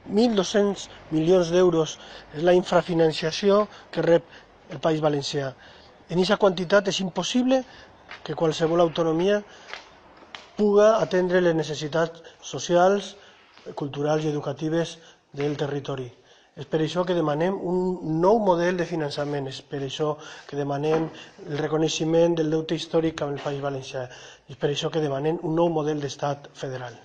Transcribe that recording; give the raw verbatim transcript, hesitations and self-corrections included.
mil dos-cents milions d'euros és la infrafinanciació que rep el País Valencià. En aquesta quantitat és impossible que qualsevol autonomia puga atendre les necessitats socials, culturals i educatives del territori. És per això que demanem un nou model de finançament, és per això que demanem el reconeixement del deute històric amb el País Valencià, és per això que demanem un nou model d'estat federal.